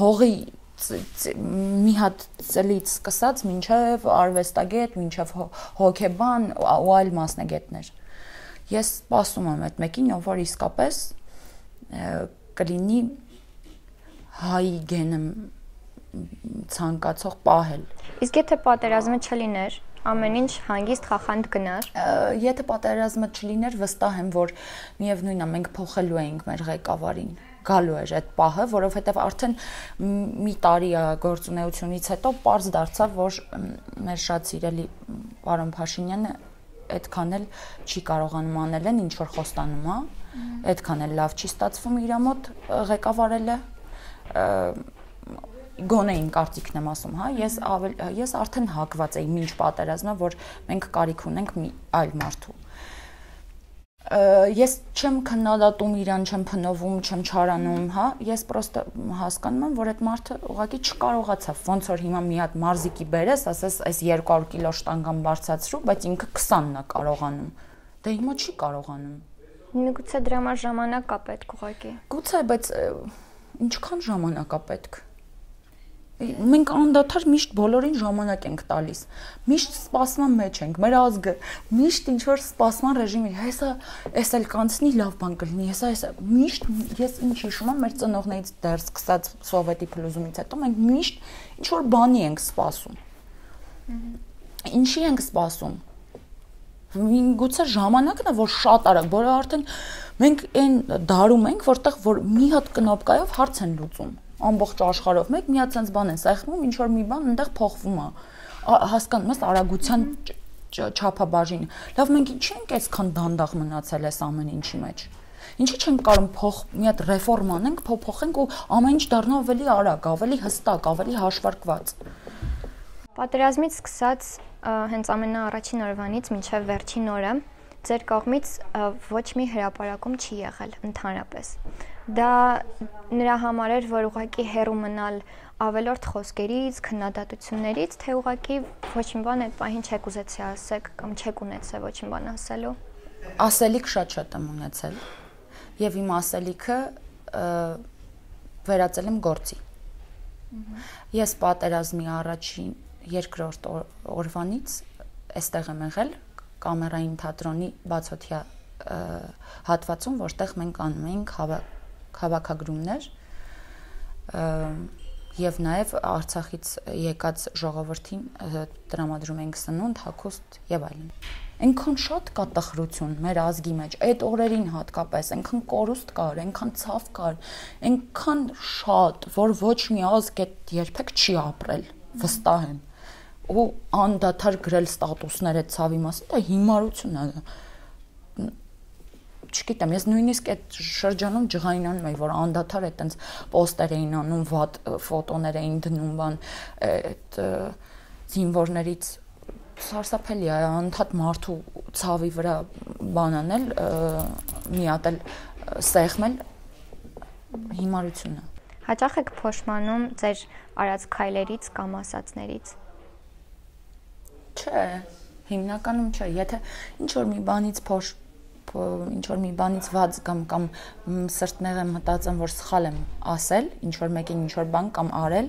Հողի մի հատ ծլից սկսած մինչև արվեստագետ, մինչև հոգեբան ու այլ մասնագետներ։ Ես սպասում եմ այդ մեկին, ով որ իսկապես կլինի հայի գենը ցանկացող պահել։ Իսկ եթե պատերազմը չլիներ, ամեն ինչ հանգիստ խախանդ գնար։ Եթե պատերազմը չլիներ, վստահ եմ, որ միևնույնն է, մենք փոխելու էինք մեր ղեկավարին։ Գալու էր այդ պահը, որովհետև արդեն մի տարի գործունեությունից հետո պարզ դարձավ, որ մեր շատ սիրելի պարոն Փաշինյանը այդքան էլ չի կարողանում անել են, ինչ որ խոստանում է, այդքան էլ լավ չի ստացվում իր մոտ ղեկավարելը։ գոնե իմ կարծիքն եմ ասում, հա, ես ավել ես արդեն հակված էի մինչ պատերազմը, որ մենք կարիք ունենք մի այլ մարդու։ Ես չեմ քննադատում իրան, չեմ փնովում, չեմ չարանում, հա, ես պրոստը հասկանում եմ, որ այդ մարդը ուղղակի չկարողացավ, ոնց որ հիմա մի հատ մարզիկի բերես, ասես այս երկու հարյուր կիլո շտանգան բարձրացրու, բայց ինքը քսանն է կարողանում։ Դե հիմա չի կարողանում։ Միգուցե դրա համար ժամանակ կա պետք ուղղակի։ Գուցե, բայց ինչքան ժամանակ է պետք։ Մենք անդադար միշտ բոլորին ժամանակ ենք տալիս։ Միշտ սպասման մեջ ենք, մեր ազգը միշտ ինչ որ սպասման ռեժիմի, հեսա, էս էլ կանցնի, լավ բան կլինի, հեսա, հեսա։ Միշտ ես ինչ հիշում եմ մեր ծնողներից դեռ սկսած սովետի փլուզումից հետո մենք միշտ ինչ որ բանի ենք սպասում։ Ինչի ենք սպասում։ Գուցե ժամանակն է, որ շատ արագ, որը արդեն մենք այն դարում ենք, որտեղ որ մի հատ կնոպկայով հարց են լուծում։ Ամբողջ աշխարհով մեկ մի հատ sense բան են սեղմում, ինչ որ մի բան այնտեղ փոխվում է։ Հասկանում ես արագության չափաբաժին։ Լավ, մենք ինչի ենք այսքան դանդաղ մնացել այս ամեն ինչի մեջ։ Ինչի չենք կարող փոխ մի հատ ռեֆորմ անենք, փոփոխենք ու ամեն ինչ դառնա ավելի արագ, ավելի հստակ, ավելի հաշվարկված։ Պատերազմից սկսած հենց ամենաառաջին օրվանից մինչև վերջին օրը ձեր կողմից ոչ մի հրապարակում չի եղել ընդհանրապես։ Դա նրա համար էր, որ ուղղակի հեռու մնալ ավելորդ խոսքերից, քննադատություններից, թե ուղղակի ոչ մի բան այդ պահին չեք ուզեցի ասեք կամ չեք ունեցել ոչ մի բան ասելու։ Ասելիք շատ շատ եմ ունեցել եւ իմ ասելիքը վերածել եմ գործի։ Ես պատերազմի առաջին երկրորդ օրվանից այստեղ եմ եղել կամերային թատրոնի բացօթյա հատվածում, որտեղ մենք անում էինք հավաքագրումներ եւ նաեւ Արցախից եկած ժողովրդին տրամադրում ենք սնունդ, հագուստ եւ այլն։ Այնքան շատ կա տխրություն մեր ազգի մեջ, այդ օրերին հատկապես, այնքան կորուստ կար, այնքան ցավ կար, այնքան շատ, որ ոչ մի ազգ այդ երբեք չի ապրել, վստահ եմ։ Ու անդադար գրել ստատուսներ այդ ցավի մասին, դա հիմարություն է։ Չգիտեմ, ես նույնիսկ այդ շրջանում ջղայնանում էի, որ անդադար այդ տենց պոստեր էին անում, վատ ֆոտոներ էին դնում, բան այդ զինվորներից սարսափելի է, անդադ մարդու ցավի վրա բան անել, մի հատ էլ սեղմել հիմարություն է։ Հաճախ եք փոշմանում ձեր արած քայլերից կամ ասածներից։ Չէ, հիմնականում չէ, եթե ինչ որ մի բանից փոշ ինչ որ մի բանից վաց կամ կամ սրտնեղ եմ մտածեմ, որ սխալ եմ ասել, ինչ որ մեկին ինչ որ բան կամ արել,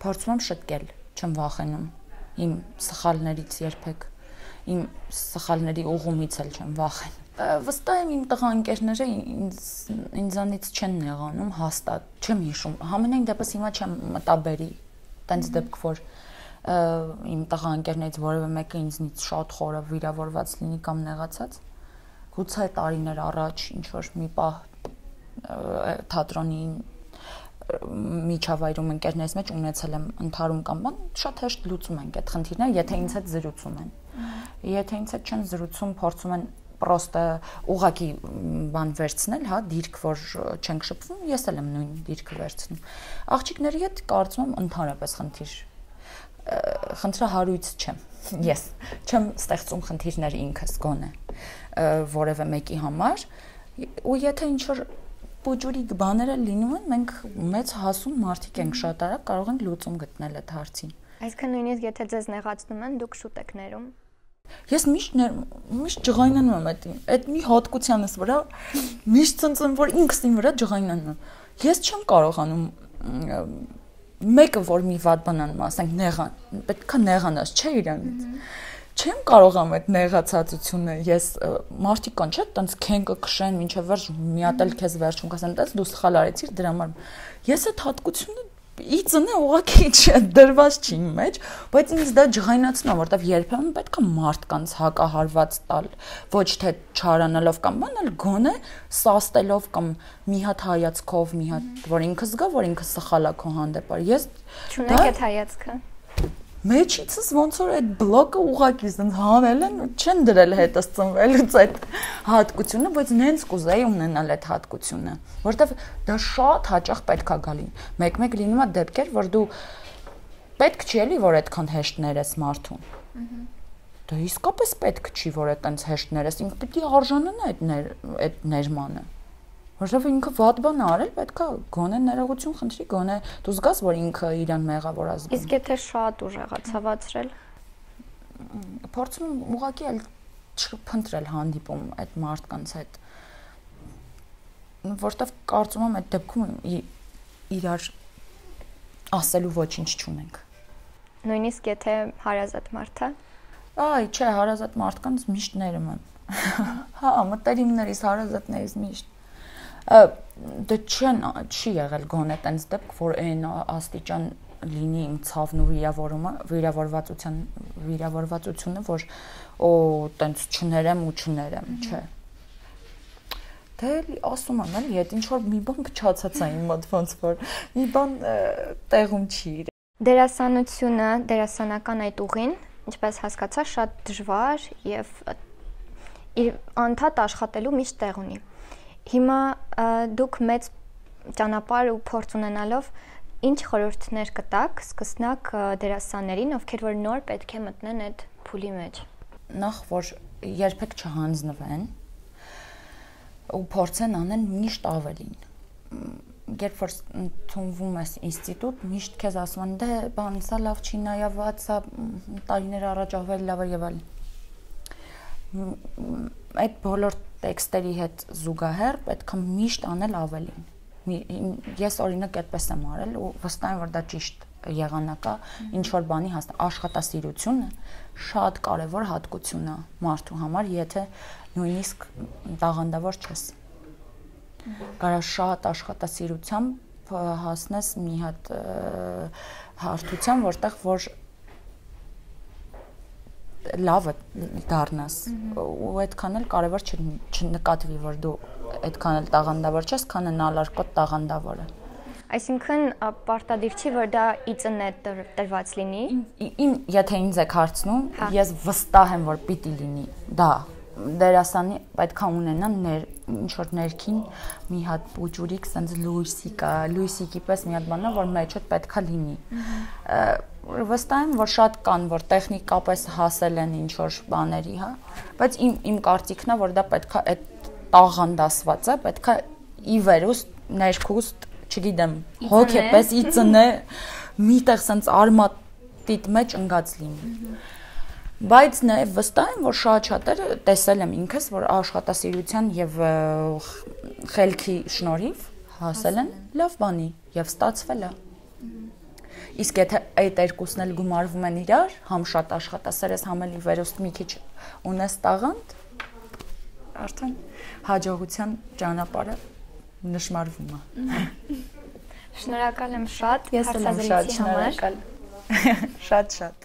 փորձում եմ շտկել, չեմ վախենում իմ սխալներից երբեք, իմ սխալների ուղումից էլ չեմ վախենում։ Վստահ եմ իմ տղա ընկերները ինձ ինձանից չեն նեղանում, հաստատ, չեմ հիշում, համենայն դեպս հիմա չեմ մտաբերի, տենց դեպք որ իմ տղա ընկերներից որևէ մեկը ինձնից շատ խորը վիրավորված լինի կամ նեղացած, գուցե տարիներ առաջ ինչ որ մի պահ թատրոնի միջավայրում ընկերներից մեջ ունեցել եմ ընդհարում կամ բան, շատ հեշտ լուծում ենք այդ խնդիրները, եթե ինձ հետ զրուցում են։ Եթե ինձ հետ չեն զրուցում, փորձում են պրոստը ուղակի բան վերցնել, հա, դիրք, որ չենք շփվում, ես էլ եմ նույն դիրքը վերցնում։ Աղջիկների հետ կարծում եմ ընդհանրապես խնդիր խնդրահարույց չեմ, ես չեմ ստեղծում խնդիրներ ինքս գոնե որևէ մեկի համար ու եթե ինչ-որ պուջուրիկ բաները լինում են, մենք մեծ հասուն մարդիկ ենք շատ արագ կարող ենք լուծում գտնել այդ հարցին։ Այսինքն նույնիսկ եթե ձեզ նեղացնում են, դուք շուտ եք ներում։ Ես միշտ միշտ ջղայնանում եմ այդ այդ մի հատկությանս վրա, միշտ ցնցում որ ինքս իմ վրա ջղայնանում եմ։ Ես չեմ կարողանում մեկը որ մի վատ բան անում, ասենք նեղան, պետքա նեղանաս, չէ իրանից։ Չեմ կարողանում այդ նեղացածությունը, ես մարդիկ կան, չէ՞, տենց քեն կքշեն, մինչև վերջ մի հատ էլ քեզ վերջում կասեն, տես դու սխալ արեցիր դրա համար։ Ես այդ հատկությունը իծնե ուղղակի չէ, դրված չի իմ մեջ, բայց ինձ դա ջղայնացնում է, որտեվ երբեմն պետք է մարդկանց հակահարված տալ, ոչ թե չարանալով կամ բան, այլ գոնե սաստելով կամ մի հատ հայացքով, մի հատ, որ ինքը զգա, որ ինքը սխալ է քո հանդեպ։ Ես չունեք այդ հայացքը։ մեջիցս ոնց որ այդ բլոկը ուղակի ասենց հանել են, չեն դրել հետս ծնվելուց այդ հատկությունը, բայց նենց կուզեի ունենալ այդ հատկությունը, որովհետև դա շատ հաճախ պետքա գալի։ Մեկ-մեկ լինում է դեպքեր, որ դու պետք չի էլի, որ այդքան հեշտներ ես մարդուն։ Դա իսկապես պետք չի, որ այդտենց հեշտներ ես, ինքը պիտի արժանանա այդ այդ ներմանը։ Որովհետև ինքը վատ բան արել, պետքա գոնե ներողություն խնդրի, գոնե դու զգաս, որ ինքը իրան մեղավոր է զգում։ Իսկ եթե շատ ուժեղա ցավացրել, փորձում եմ ուղղակի էլ չփնտրել հանդիպում այդ մարդկանց հետ, որովհետև կարծում եմ այդ դեպքում իրար ասելու ոչինչ չունենք։ Նույնիսկ եթե հարազատ մարդ է։ Այ, չէ, հարազատ մարդկանց միշտ ներում եմ։ Հա, մտերիմներից, հարազատներից միշտ դա չեն չի եղել գոնե տենց դեպք, որ այն աստիճան լինի իմ ցավն ու վիրավորումը, վիրավորվածության վիրավորվածությունը, որ օ տենց չներեմ ու չներեմ, չէ։ Դե ասում եմ, էլի, այդ ինչ որ մի բան փչացած է իմ մոտ ոնց որ մի բան տեղում չի։ Դերասանությունը, դերասանական այդ ուղին, ինչպես հասկացա, շատ դժվար եւ անդադ աշխատելու միշտ տեղ ունի։ Հիմա դուք մեծ ճանապարհ ու փորձ ունենալով ինչ խորհուրդներ կտաք սկսնակ դերասաններին, ովքեր որ նոր պետք է մտնեն այդ փուլի մեջ։ Նախ որ երբեք չհանձնվեն ու փորձեն անեն միշտ ավելին։ Երբ որ ընդունվում ես ինստիտուտ, միշտ քեզ ասում են, դե բան, սա լավ չի նայված, սա տարիներ առաջ ավելի լավ էր եւ այլն։ Այդ բոլոր տեքստերի հետ զուգահեռ պետք է միշտ անել ավելին։ Ես օրինակ այդպես եմ արել ու վստահ եմ, որ դա ճիշտ եղանակ է, ինչ որ բանի հաստ աշխատասիրությունը շատ կարևոր հատկություն է մարդու համար, եթե նույնիսկ տաղանդավոր չես։ Կարա շատ աշխատասիրությամբ հասնես մի հատ հարթության, որտեղ որ լավը դառնաս ու այդքան էլ կարևոր չնկատվի, որ դու այդքան էլ տաղանդավոր չես, քան նալարկոտ տաղանդավորը։ Այսինքն պարտադիր չի, որ դա իծն է տրված լինի։ Իմ եթե ինձ եք հարցնում, ես վստահ եմ, որ պիտի լինի դա։ Դերասանի պետքա ունենա ինչ որ ներքին մի հատ պուջուրիկ, սենց լույսի կա, լույսիկի պես մի հատ բան, որ մեջդ պետքա լինի։ Վստահ եմ, որ շատ կան, որ տեխնիկապես հասել են ինչ որ բաների, հա, բայց իմ իմ կարծիքն է, որ դա պետքա այդ տաղանդասվածը պետքա ի վերուստ ներքուստ, չգիտեմ, հոգեպես ի ծնե միտեղ սենց արմատիտ մեջ ընկած լինի։ Բայց նաև վստահ եմ, որ շատ շատերը տեսել եմ ինքս, որ աշխատասիրության եւ խելքի շնորհիվ հասել են լավ բանի եւ ստացվել է։ Իսկ եթե այդ երկուսն էլ գումարվում են իրար, համ շատ աշխատասեր ես, համ էլ ի վերուստ մի քիչ ունես տաղանդ, արդեն հաջողության ճանապարհը նշмарվում է։ Շնորհակալ եմ շատ հարցազրույցի համար։ Շատ շատ